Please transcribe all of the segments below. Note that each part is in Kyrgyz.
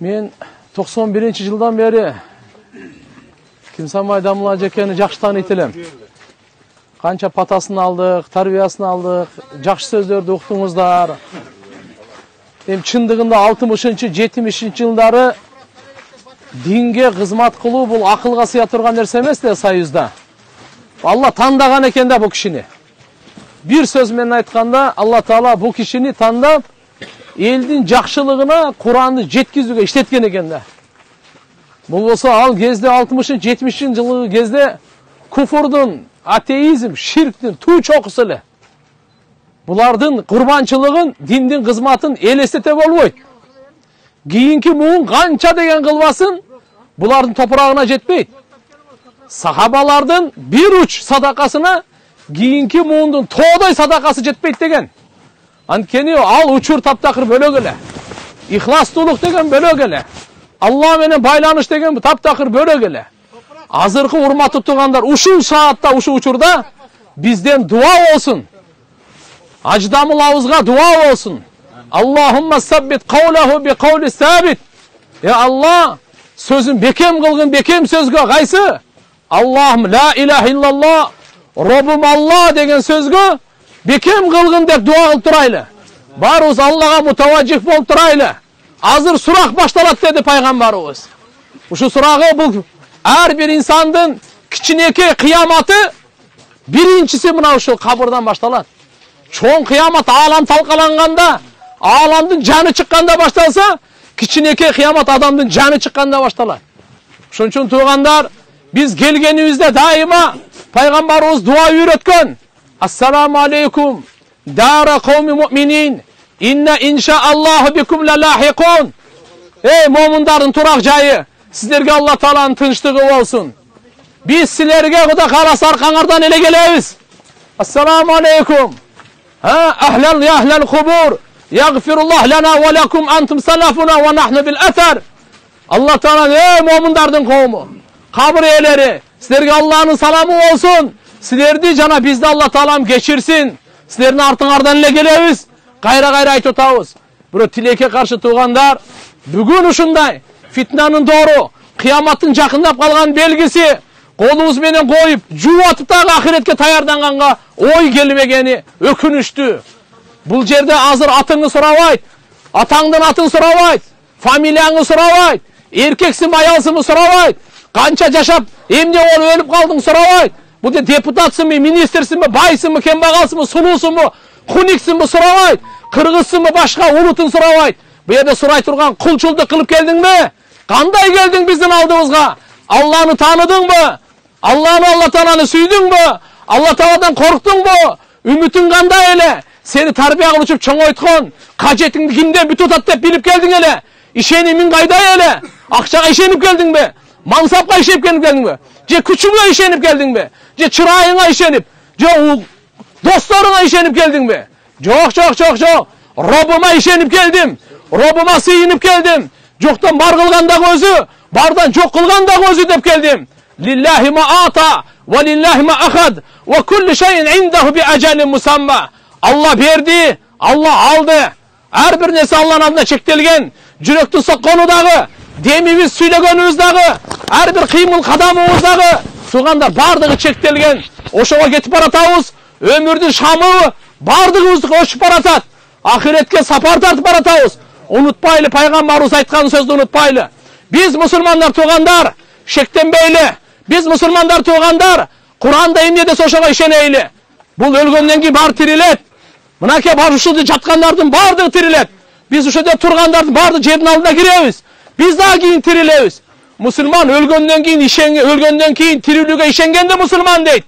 Мен 91-жылдан бeri Кимсанбай Дамыл ажекени жакшы тааныйт элем. Канча патасын алдык, тарбиясын алдык, жакшы сөздөрдү уктуңуздар. Эми чындыгында 60-70 жылдары динге кызмат кылуу бул акылга сыя турган нерсе эмес да Союзда. Алла тандаган экен да бул кишини. Бир сөз менен айтканда, Алла Таала бул кишини тандап, элдин жакшылыгына Куранды жеткизүүгө иштеткен экен да. Бул болсо ал кезде 60-70 жылы кезде куфурдун, атеизм, ширктин туу чокусу эле. Булардын курбанчылыгын, диндин кызматын элестете болбойт. Кийинки муун канча деген кылбасын, булардын топурагына жетпейт. Сахабалардын бир уч садакасына кийинки муундун тоодой садакасы жетпейт деген. Анткени ал учур таптакыр бөлөк эле. Ихластуулук деген бөлөк эле. Алла менен байланыш деген таптакыр бөлөк эле. Азыркы урматтуу туугандар, ушул саатта, ушул учурда бизден дуа болсун. Аждамыл авызга дуа болсун. Аллахумма саббит каулаху би каули сабит. Алла, сөзүн бекем кылгын бекем сөзгө кайсы? Аллахум ла илаха иллаллах, Роббум Алла деген сөзгө бекем кылгын деп дуа кылып турайлы. Барыбыз Аллага мутаважжих болуп турайлы. Азыр сурак башталат деди пайгамбарыбыз. Ушул сурагы бул ар бир инсандын кичинекей кыяматы биринчиси мына ушул кабырдан башталат. Чоң кыямат аалам талкаланганда, ааламдын жаны чыкканда башталса, кичинекей кыямат адамдын жаны чыкканда башталат. Ошон үчүн туугандар, биз келгенибизде дайыма пайгамбарыбыз дуа үйрөткөн. Ассаламу алейкум, дара кауми муъминин, инна иншааллаху бикум лалахикун. Эй момундардын турак жайы, сиздерге Алла Тааланын тынчтыгы болсун. Биз силерге Кудай кааласа аркаңардан эле келебиз. Ассаламу алейкум. Ахлан я ахлал кубур. Ягфируллах лана ва лакум антум салафуна ва нахну бил атар. Алла Таала эй момундардын коому, кабыр ээлери, силерге Алланын саламы болсун. Силерди жана бизди Алла Таалам кечирсин. Силердин артыңардан эле келебиз. Кайра айтып атабыз. Бирок тилекке каршы туугандар, бүгүн ушундай фитнанын доору, кыяматтын жакындап калган белгиси, колубуз менен коюп, жуутуп дагы ахиретке таярданганга ой келбегени өкүнүчтүү. Бул жерде азыр атыңы сурабайт, атаңдын атын сурабайт, фамилияңы сурабайт, эркексиңби аялсыңбы сурабайт, канча жашап эмне болуп өлүп калдың сурабайт. Бул депутатсыңбы, министрсиңби, байсыңбы, кембагалсыңбы, сулуусуңбу, хуниксиңби сурабайт, кыргызсыңбы, башка улутун сурабайт. Бу жерде сурай турган кулчулдук кылып келдиңби? Кандай келдиң биздин алдыбызга? Алланы тааныдыңбы? Алла Тааланы сүйдүңбү? Алла Тааладан корктуңбу? Үмүтүң кандай эле? Сени тарбия кылып чоңойткон, кажетиңди кимден бүтүп атат деп билип келдиң эле? Ишенимиң кайда эле? Акчага ишенип келдиңби? Мансапка ишенип келдиңби? Же күчүңө ишенип келдиңби? Же чырайыңа ишенип? Же досторуңа ишенип келдиңби? Жок. Роббума ишенип келдим. Роббума сыйынып келдим. Жоктон бар кылган дагы өзү, бардан жок кылган дагы өзү деп келдим. Лиллахи ма ата ва лиллахи ма ахад ва куллу шайин индаху би ажалин мусамма. Алла берди, Алла алды. Ар бир нерсе Алланын алдында чектелген. Жүрөктүн соккону дагы, демибиз сүйлөгөнүбүз дагы, ар бир кыймыл кадамыбыз дагы, туугандар бардыгы чектелген. Ошого кетип баратабыз. Өмүрдүн шамы бардыгыбызды өчүп баратат. Ахиретке сапар тартып баратабыз. Унутпайлы, пайгамбарыбыз айткан сөздү унутпайлы. Биз мусулмандар туугандар, шектенбейли. Биз мусулмандар туугандар, Куранда эмне десе ошого ишенейли. Бул өлгөндөн кийин баары тирилет. Мынакей бар ушулда жаткандардын бардыгы тирилет. Биз ушул тургандардын бардыгы жердин алдына киребиз. Биз дагы кийин тирилебиз. Мусулман өлгөндөн кийин тирилүүгө ишенгенде мусулман дейт.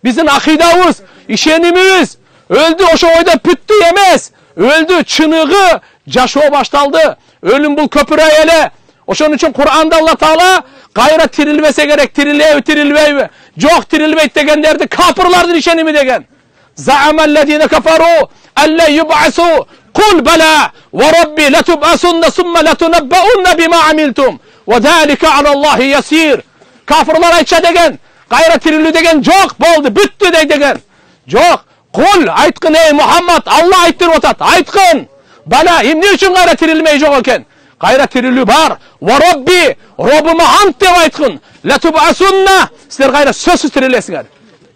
Биздин акыйдабыз, ишенимибиз өлдү ошо ойдо бүттү эмес. Өлдү, чыныгы жашоо башталды. Өлүм бул көпүрөй эле. Ошон үчүн Кур'анда Алла Таала кайра тирилбесе керек, тирилбейби? Жок, тирилбейт дегендерди капырлардын ишеними деген. Заамалладина кафару алла юбасу кул бала ва рабби латубасунна сумма латунаббаунна бима амилтум ва залика алаллахи ясир. Кафырлар айтча деген, кайра тирилүү деген жок, болду, бүттү деген. Жок, кул айткын ey Muhammad, Алла айттырып атат, айткын. Бала эмне үчүн кайра тирилмей жок экен? кайра тирилүү бар. Ва робби, роббума ант деп айткын. Ла тубасунна, силер кайра сөзсүз тирилесиңер.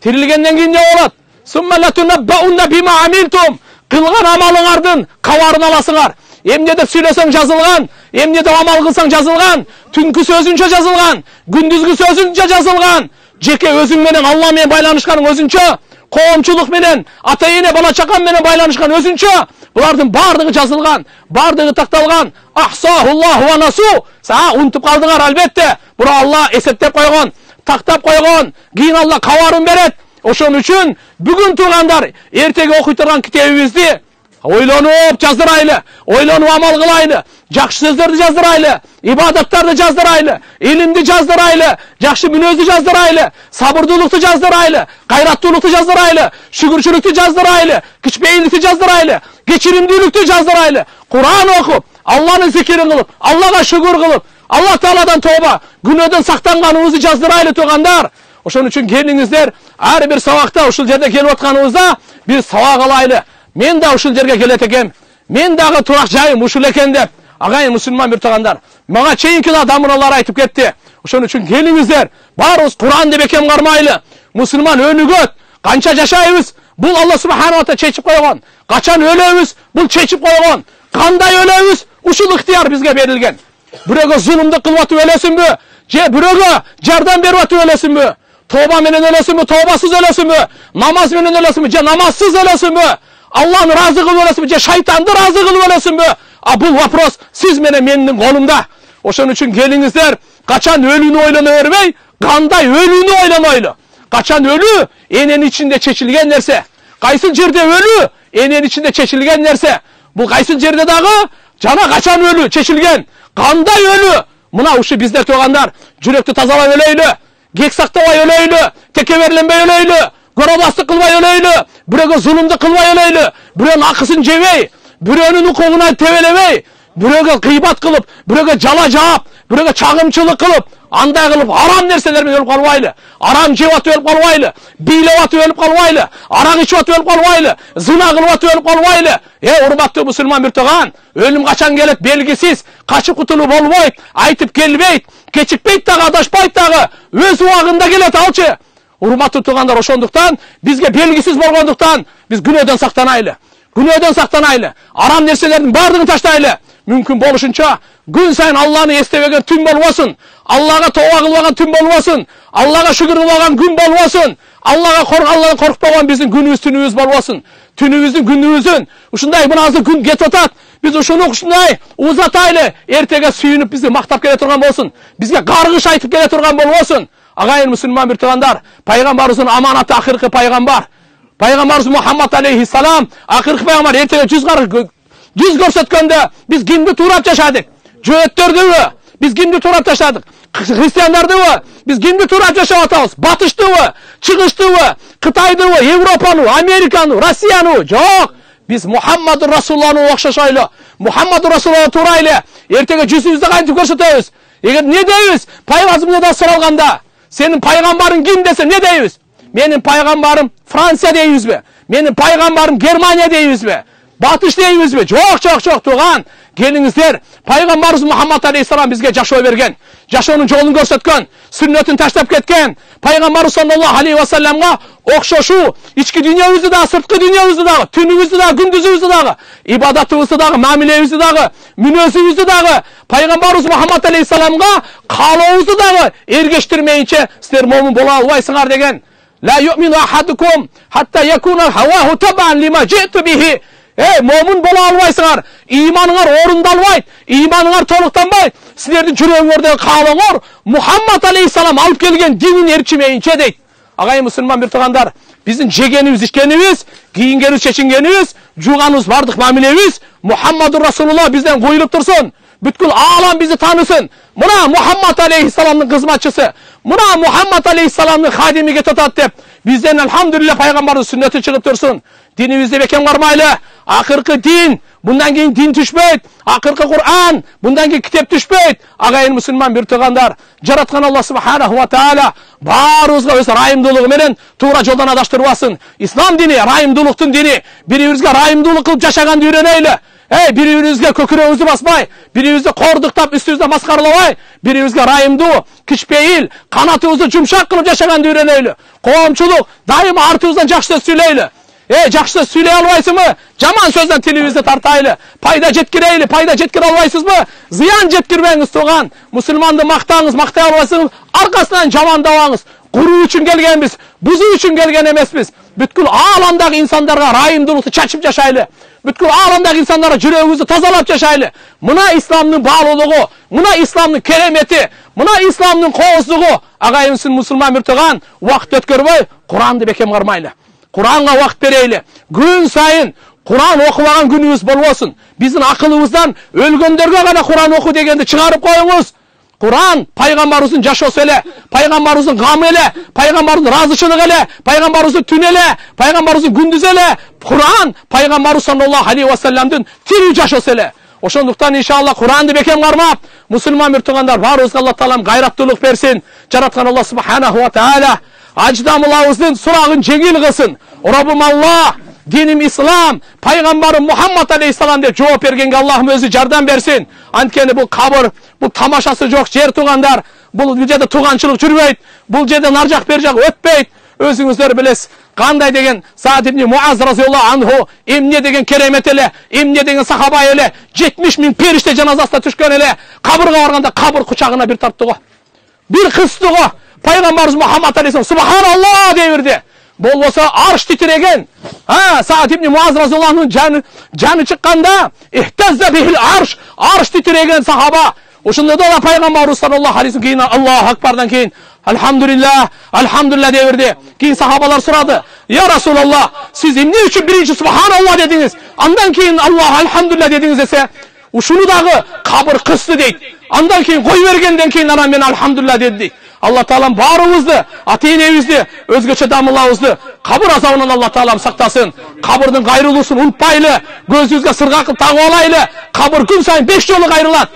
Тирилгенден кийин не болот? Сумма ла тунаббаунна бима амилтум. Кылган амалыңардын кабарын аласыңар. Эмне деп сүйлөсөң жазылган, эмне деп амал кылсаң жазылган, түнкү сөзүнчө жазылган, күндүзгү сөзүнчө жазылган. Жеке өзүң менен Алла менен байланышканың өзүнчө, коомчулук менен, ата-эне бала чакан менен байланышкан өзүнчө. Булардын бардыгы жазылган, бардыгы такталган. Ахсахуллаху ва насу. Са унутуп калдыңар албетте. Бура Алла эсептеп койгон, тактап койгон. Кийин Алла кабарын берет. Ошон үчүн бүгүн туугандар, эртеге окуй турган китебибизди ойлонуп жаздырайлы, ойлонуп амал кылайлы, жакшы сөздөрдү жаздырайлы, ибадаттарды жаздырайлы, илимди жаздырайлы, жакшы мүнөздү жаздырайлы, сабырдуулукту жаздырайлы, кайраттуулукту жаздырайлы, шүгүрчүлүктү жаздырайлы, кичпейилдикти жаздырайлы, кечиримдүүлүктү жаздырайлы. Кур'ан окуп, Алланын зикирин кылып, Аллага шүгүр кылып, Алла Тааладан тобо, күнөөдөн сактанганыбызды жаздырайлы туугандар. Ошон үчүн келиңиздер, ар бир сабакта ушул жерде келип атканыбызда биз сабак алайлы. Мен да ушул жерге келет экем. Мен дагы турак жайым ушул экен деп, агайын мусулман бир туугандар, мага чейинки да дамыналар айтып кетти. Ошон үчүн келиңиздер, баарыбыз Кур'ан деп бекем кармайлы. Мусулман өнүгөт. Канча жашайбыз? Бул Алла субханаху ва таала чечип койгон. Качан өлөбүз? Бул чечип койгон. Кандай өлөбүз? Ушул ыктыяр бизге берилген. Бирөөгө зулумду кылып атып өлөсүнбү? Же бирөөгө жардам берип атып өлөсүнбү? Тоба менен өлөсүнбү? Тобасыз өлөсүнбү? Намаз менен өлөсүнбү? Же намазсыз өлөсүнбү? Алланы разы кылып өлөсүнбү? Же шайтанды разы кылып өлөсүнбү? А бул вопрос сиз менен менин колумда. Ошон үчүн келиңиздер, качан өлүүнү ойлоно бербей, кандай өлүүнү ойлонойлу. Качан өлүү эненин ичинде чечилген нерсе. Кайсыл жерде өлүү эненин ичинде чечилген нерсе. Бул кайсыл жерде дагы жана качан өлүү чечилген. Кандай өлүү? Мына ушу биздер туугандар, жүрөктү тазалап өлөйлү, кек сактабай өлөйлү, текеберленбей өлөйлү, коробастык кылбай өлөйлү, бирөөгө зулумду кылбай өлөйлү, бирөөнүн акысын жебей, бирөөнүн укугуна тебелебей, бирөөгө кыйбат кылып, бирөөгө жала жаап, бирөөгө чагымчылык кылып, андай кылып арам нерселер менен өлүп калбайлы, арам жеп атып өлүп калбайлы, бийлеп атып өлүп калбайлы, арак ичип атып өлүп калбайлы, зына кылып атып өлүп калбайлы. Урматтуу мусулман бир тууган, өлүм качан келет белгисиз, качып кутулуу болбойт, айтып келбейт, кечикпейт дагы, адашпайт дагы, өз убагында келет алчы. Урматтуу туугандар, ошондуктан бизге белгисиз болгондуктан биз күнөөдөн сактанайлы. Күнөөдөн сактанайлы. Арам нерселердин баардыгын таштайлы. Мүмкүн болушунча күн сайын Алланы эстебеген түн болбосун. Аллага тооба кылбаган түн болбосун. Аллага шүгүр кылбаган күн болбосун. Алладан коркпогон биздин күнүбүз түнүбүз болбосун. Түнүбүздүн күнүбүздүн ушундай мына азыр күн кетип атат. Биз ушуну ушундай узатайлы. Эртеге сүйүнүп бизди мактап келе турган болсун. Бизге каргыш айтып келе турган болбосун. Агайын мусулман бир туугандар, пайгамбарыбыздын аманаты акыркы пайгамбар. Пайгамбарыбыз Мухаммад алейхиссалам акыркы пайгамбар. Эртеге жүз көрсөткөндө биз кимди туурап жашадык? Жөөттөрдүбү? Биз кимди туурап жашадык? Христиандардыбы? Биз кимди туурап жашап атабыз? Батыштыбы? Чыгыштыбы? Кытайдыбы? Европаны, Американы, Россияны? Жок. Биз Мухаммад Расулуллахны окшошойлу. Мухаммад Расулуллахны туурайлы. Эртеге жүзүбүздү кантип көрсөтөбүз? Эгер не дейбиз? Пайгамбарымыздан суралганда, сенин пайгамбарың ким десе не дейбиз? Менин пайгамбарым Франция дейбизби? Менин пайгамбарым Германия дейбизби? Батыш дейбизби? Жок, тууган. Келиңиздер, пайгамбарыбыз Мухаммад алейхиссалам бизге жашоо берген, жашоонун жолун көрсөткөн, сүннөтүн таштап кеткен. Пайгамбарыбыз саллаллаху алейхи ва салламга окшошуу ички дүйнөбүздү да, сырткы дүйнөбүздү да, түнүбүздү да, күндүзүбүздү да, ибадатыбызды да, мамилебизди да, мүнөзүбүздү да пайгамбарыбыз Мухаммад алейхиссаламга каалообузду да эргештирмейинче силер момун боло албайсыңар деген. Ла ю'мину ахадукум хатта якуна хаваху табан лима житу бихи. Момун боло албайсыңар. Иманыңар орундалбайт, иманыңар толуктанбайт. Силердин жүрөгүңөрдөгү каалооңор Мухаммад алейхиссалам алып келген динин эрчимейинче дейт. Агайын мусулман бир туугандар, биздин жегенибиз, ичкенибиз, кийингенибиз, чечингенибиз, жууганыбыз, бардык мамилебиз Мухаммадур Расулуллах бизден куюлуп турсун. Бүткүл аалам бизди таанысын. Мына Мухаммад алейхиссаламдын кызматчысы, мына Мухаммад алейхиссаламдын хадими кетип атат деп бизден алхамдулилля пайгамбардын сүннөтү чыгып турсун. Динибизди бекем кармайлы. Акыркы дин, мындан кийин дин түшпөйт. Акыркы Кур'ан, мындан кийин китеп түшпөйт. Агайын мусулман бир туугандар, жараткан Алла субханаху ва таала баарыбызга өз райымдуулугу менен туура жолдон адаштырбасын. Ислам дини райымдуулуктун дини. Бирибизге райымдуулук кылып жашаганды үйрөнөйлү. Бири-бирибизге көкүрөгүбүздү баспай, бирибизди кордуктап, үстүбүздө маскаралабай, бирибизге райымдуу, кичпейил, канатыбызды жумшак кылып жашаганды үйрөнөйлү. Коомчулук дайыма артыбыздан жакшы сөз сүйлөйлү. Жакшы сөз сүйлөй албайсыңбы? Жаман сөздөн тилибизди тартайлы. Пайда жеткирейли, пайда жеткире албайсызбы? Зыян жеткирбеңиз тууган. Мусулманды мактаңыз, мактай албайсыңыз, аркасынан жамандабаңыз. Куруу үчүн келгенбиз, бузуу үчүн келген эмеспиз. Бүткүл ааламдагы инсандарга райымдуулукту чачып жашайлы. Бүткүл ааламдагы инсандарга жүрөгүбүздү тазалап жашайлы. Мына исламдын баалуулугу, мына исламдын керемети, мына исламдын кооздугу. Агайымсың мусулман муртаган, убакыт өткөрбөй, Куранды бекем кармайлы. Куранга убакыт берейли. Күн сайын Куран окубаган күнүбүз болбосун. Биздин акылыбыздан өлгөндөргө гана Куран оку дегенди чыгарып коюңуз. Куран пайгамбарыбыздын жашоосу эле, пайгамбарыбыздын гамы эле, пайгамбарыбыздын ыраазычылыгы эле, пайгамбарыбыздын түнү эле, пайгамбарыбыздын күндүзү эле. Куран пайгамбарыбыз саллаллаху алейхи ва салламдын тирүү жашоосу эле. Ошондуктан иншалла Куранды бекем кармап, мусулман муртугандар баарыбызга Алла таалам гайраттуулук берсин. Жараткан Алла субханаху ва таала аждамылабыздын сурагын жеңил кылсын. Раббым Алла, диним ислам, пайгамбарым Мухаммад алейхиссалам деп жооп бергенге Аллахым өзү жардам берсин. Анткени бул кабыр, бул тамашасы жок жер туугандар, бул жерде туганчылык жүрбөйт, бул жерде нар жак бер жак өтпөйт. Өзүңүздөр билесиз, кандай деген Саад ибн Муаз разияллаху анху, эмне деген керемет эле, эмне деген сахаба эле, 70 000 периште жаназасына түшкөн эле, кабырга барганда кабыр кучагына бир тарттыгы. Бир кыстыгы. Пайгамбарыбыз Мухаммад алейхиссалам субханаллах дей берди. Болбосо арш титиреген. Саад ибн Муаз разияллаху анху жаны чыкканда, ихтазза бихил арш титиреген сахаба. Ошондо да пайгамбарыбыз саллаллаху алейхи кийин Аллаху акбардан кийин алхамдулилля дей берди. Кийин сахабалар сурады: "Я Расулаллах, сиз эмне үчүн биринчи субханаллах дедиңиз, андан кийин Аллаху алхамдулилля дедиңиз?" десе, ушуну дагы кабыр кысты дейт. Андан кийин кой бергенден кийин анан мен алхамдулилля деди. Алла таалам баарыбызды, ата-энебизди, өзгөчө дамылабызды кабыр азабынан Алла таалам сактасын. Кабырдын кайрылуусун унутпайлы, көзүбүзгө сырга кылып тагып алайлы. Кабыр күн сайын 5 жолу кайрылат.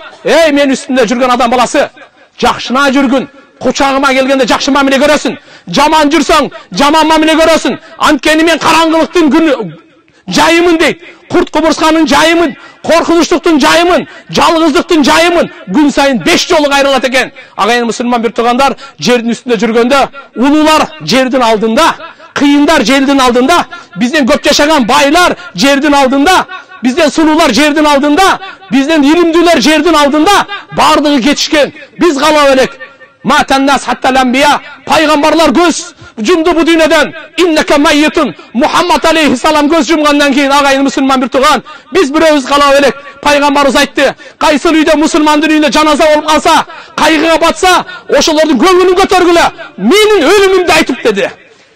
Мен үстүндө жүргөн адам баласы, жакшына жүргүн. Кучагыма келгенде жакшы мамиле көрөсүн. Жаман жүрсөң, жаман мамиле көрөсүн. Анткени мен караңгылыктын күнү жайымын дейт. Курт кубурсканын жайымын, коркунучтуктун жайымын, жалгыздыктын жайымын. Күн сайын 5 жолу кайрылат экен. Агайын мусулман биртугандар, жердин үстүндө жүргөндө, улуулар жердин алдында, кыйындар жердин алдында, бизден көп жашаган байлар жердин алдында, бизден сулуулар жердин алдында, бизден илимдүүлөр жердин алдында, бардыгы кетишкен. Биз калап элек. Матаннас хаттал анбия, пайгамбарлар көз жумду бу дүйнөдөн. Иннека майитун, Мухаммад алейхиссалам көз жумгандан кийин агайын мусулман бир туган, биз бирөөбүз калап элек. Пайгамбарыбыз айтты: "Кайсыл үйдө мусулмандын үйүндө жаназа болуп калса, кайгыга батса, ошолордун көңүлүн көтөргүлө, менин өлүмүмдү айтып" деди.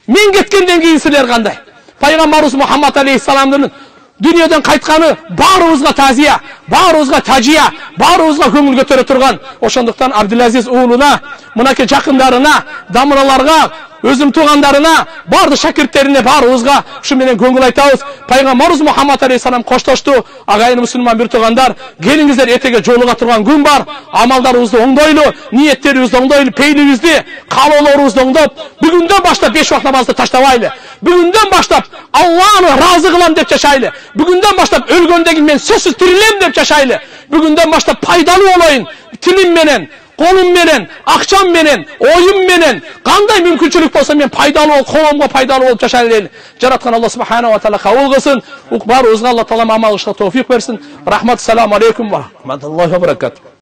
Мен кеткенден кийин силер кандай? Пайгамбарыбыз Мухаммад алейхиссаламдын дүйнөдөн кайтканы баарыбызга тазия, баарыбызга тажия, баарыбызга көңүл көтөрө турган. Ошондуктан Абдулазиз уулуна, мынакей жакындарына, дамыраларга, өзүм туугандарына, барды шакирттерине баарыбызга ушу менен көңүл айтабыз. Пайгамбарыбыз Мухаммад алейхиссалам коштошту. Агайын мусулман бир туугандар, келиңиздер, эртеге жолуга турган күн бар. Амалдарыбызды оңдойлу, ниеттерибизди оңдойлу, пейилибизди, каалоолорубузду оңдоп, бүгүндөн баштап 5 убакыт намазды таштабайлы. Бүгүндөн баштап Аллахны ыраазы кылам деп жашайлы. Бүгүндөн баштап өлгөндөн кийин мен сөзсүз тирилем деп жашайлы. Бүгүндөн баштап пайдалуу болоюн, тилим менен, колум менен, акчам менен, оюм менен, кандай мүмкүнчүлүк болсо мен пайдалуу, коомго пайдалуу болуп жашайлы дейли. Жараткан Алла субханаху ва таала кабыл кылсын. Баарыбызга Алла таалам амал кылышка товфик берсин. Рахмат, салам алейкум ва рахматуллахи ва баракатух.